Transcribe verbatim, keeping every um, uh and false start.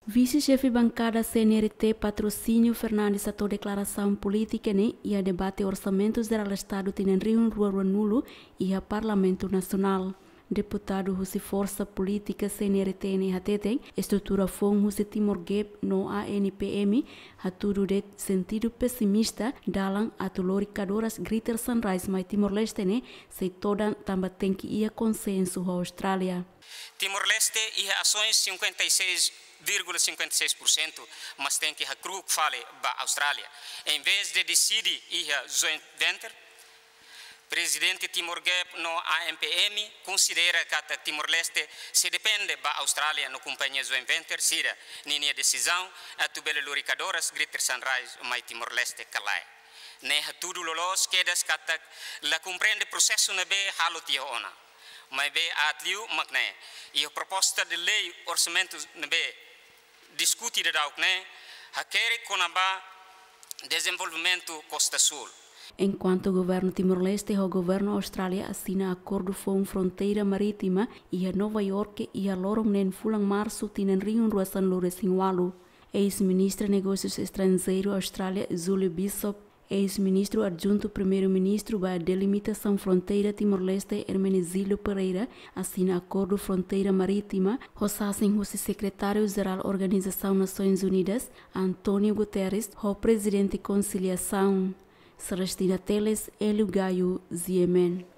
Vise-xefe bankada C N R T Patrocínio Fernandes hato'o deklarasaun polítika ne'e iha debate Orsamentu Jerál Estadu tinan rihun rua ruanulu iha Parlamentu Nasionál. Deputadu husi forsa polítika C N R T ne'e hateten, estrutura foun husi Timor Gap no A N P M hatudu de'it sentidu pesimista dalan atu lori kadoras Greater Sunrise mai Timor-Leste ne'e sei todan tanba tenke iha konsensu ho Austrália. Timor-Leste iha asoens cinquenta e seis vírgula cinquenta e seis por cento, mas tenke hakru'uk fali ba Austrália. Em vez de deside iha joint venture, Prezidente Timor Gap no A N P M konsidera katak Timor-Leste sei depende ba Austrália no kompañia joint venture sira ninia desizaun atu bele lori kadoras Greater Sunrise mai Timor-Leste ka lae. Ne'e hatudu loloos kedas katak la komprende prosesu ne'ebé halo tiha ona. Maibé aat liu mak ne'e, iha proposta de lei orsamentu ne'ebé diskute daudauk ne'e hakerek kona-ba dezenvolvimentu Kosta Súl. Enkuantu Governu Timor-Leste ho Governu Austrália asina akordu foun fronteira marítima iha Nova Iorke iha loron neen fulan Marsu tinan rihun rua sanulu resin ualu. Eis-Ministra Negósius Estranjeiru Austrália Julie Bishop, eis-Ministru Adjuntu Primeiru-Ministru ba Delimitasaun Fronteira Timor-Leste Hermenegildo Pereira asina akordu fronteira marítima ho sasin husi Sekretáriu Jerál Organizasaun Nasoins Unidas António Guterres ho Prezidente Konsiliasaun Celestina Teles, Hélio Gaio, G M N.